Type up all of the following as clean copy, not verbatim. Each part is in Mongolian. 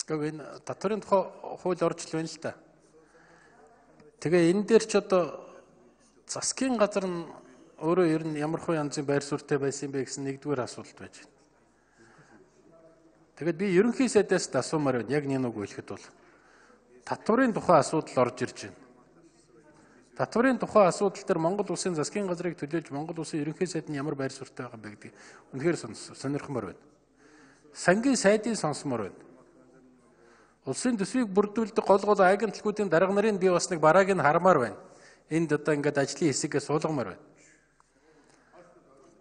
Гэхдээ энэ татварын тухай хууль орж л байна л да. Тэгээ энэ дээр ч одоо засгийн газар нь өөрөө ер нь ямар хөө янзын байр суурьтай байсан бэ гэсэн нэгдүгээр асуулт байж байна. Тэгээд би ерөнхий сайдаас асуумаар байна. Яг нэг үг хэлэхэд бол татварын тухай асуудал орж ирж байна. Татварын тухай асуудал дээр Монгол улсын засгийн газрыг төлөөлж Монгол улсын ерөнхий сайд нь ямар байр суурьтай байгаа бэ гэдэг үнэхээр сонирхмоор байна. Сангийн сайдыг сонсомоор байна. Улсын төсвийг бүрдүүлдэг гол агентлагуудын дарга нарын би бас нэг барааг нь хармаар байна. Энд одоо ингээд ажлын хэсгээ суулгамаар байна.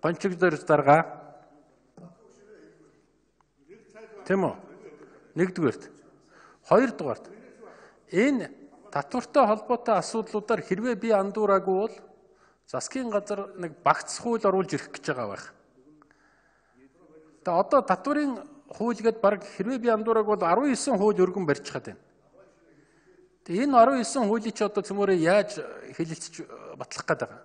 Гончигдор дарга. Тэм үү? Нэгдүгээрт. Хоёрдугаарт. Энэ татвартай холбоотой асуудлуудаар хэрвээ би андуураагүй бол засгийн газар нэг багц хууль оруулж ирэх гэж байгаа байх. Тэгээ одоо татварын хууль гээд баг хэрвээ би андуураагүй бол 19 хууль өргөн барьчихад байна. Тэгээ энэ 19 хуулийг ч одоо цөмөрөө яаж хэлэлцэж батлах гээд байгаа.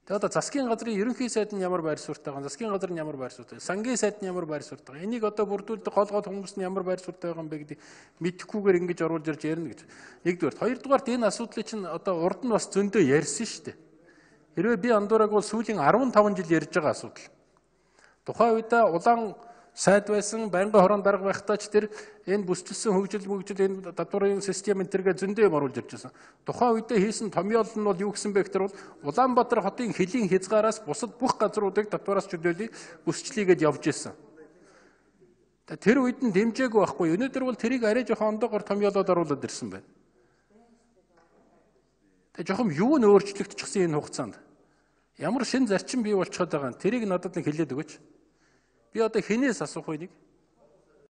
Тэгээ одоо засгийн газрын ерөнхий сайд нь ямар байр суурьтай байгаа, засгийн газар нь ямар байр суурьтай, сангийн сайд нь ямар байр суурьтай байгаа. Энийг одоо бүрдүүлдэг гол хүмүүс нь ямар байр суурьтай байгаа юм бэ гэдэг мэдэхгүйгээр ингэж оруулж ирж ярина гэж. Нэгдүгээр, хоёрдугаарт энэ асуудлыг чинь одоо урд нь бас зөндөө ярьсан шүү дээ. Хэрвээ би андуураг бол сүүлийн 15 жил ярьж байгаа асуудал. Тухайн үедээ улаан сайд байсан, байнгын хорон дарга байхдаа ч тэр энэ бүсчилсэн хөгжил энэ татварын систем энтергээ зөндөө юм оруулж ирж байсан. Тухайн үедээ хийсэн томьёол нь бол юу гэсэн бэ гэхээр бол Улаанбаатар хотын хөлийн хязгаараас бусад бүх газруудыг татвараас чөлөөлөе бүсчлийгээд явж ирсэн. Тэр үед нь дэмжээгүй байхгүй. Өнөөдөр бол тэрийг арай жоохон ондоогоор томьёолоод оруулаад ирсэн байна. Тэгээ жоохон юу нь өөрчлөгдчихсэн энэ хугацаанд. Ямар шин зарчим бий болчиход байгаа юм. Тэрийг надад нэг хэлээд өгөөч. Би одоо хинээс асуух вэ нэг?